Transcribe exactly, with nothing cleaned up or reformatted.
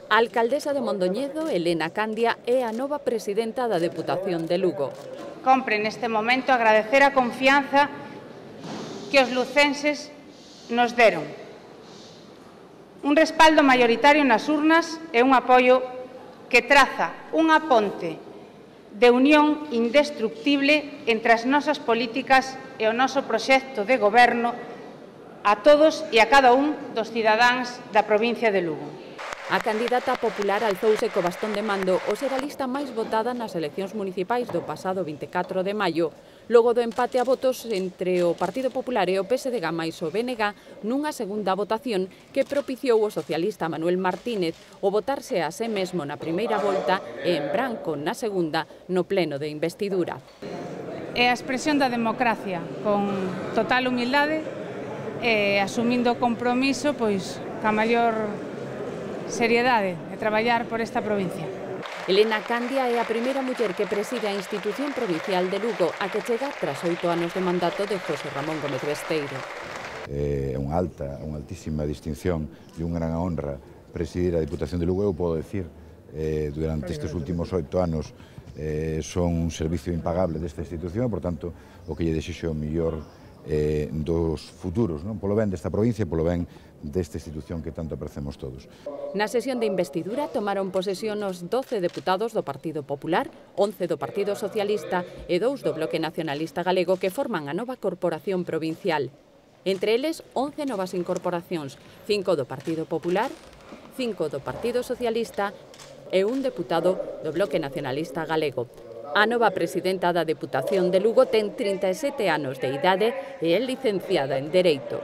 A alcaldesa de Mondoñedo, Elena Candia, é a nova presidenta da Deputación de Lugo. Compre neste momento agradecer a confianza que os lucenses nos deron. Un respaldo maioritario nas urnas e un apoio que traza unha ponte de unión indestructible entre as nosas políticas e o noso proxecto de goberno a todos e a cada un dos cidadáns da provincia de Lugo. A candidata popular alzouse co bastón de mando ao ser a lista máis votada nas eleccións municipais do pasado vinte e catro de maio, logo do empate a votos entre o Partido Popular e o P S D G máis o B N G nunha segunda votación que propiciou o socialista Manuel Martínez o votarse a sí mesmo na primeira volta e en branco na segunda no pleno de investidura. É a expresión da democracia, con total humildade e asumindo o compromiso pois ca maior seriedade de traballar por esta provincia. Elena Candia é a primeira muller que preside a institución provincial de Lugo, a que chega tras oito anos de mandato de José Ramón Gómez Besteiro. É unha alta, unha altísima distinción e unha gran honra presidir a Diputación de Lugo. Eu podo decir, eh, durante estes últimos oito anos eh, son un servicio impagable desta institución, por tanto, o que lle desexo o mellor eh, dos futuros, non? Polo ben desta provincia e polo ben desta institución que tanto apreciamos todos. Na sesión de investidura tomaron posesión os doce deputados do Partido Popular, once do Partido Socialista e dous do Bloque Nacionalista Galego que forman a nova corporación provincial. Entre eles, once novas incorporacións, cinco do Partido Popular, cinco do Partido Socialista e un deputado do Bloque Nacionalista Galego. A nova presidenta da Deputación de Lugo ten trinta e sete anos de idade e é licenciada en Dereito.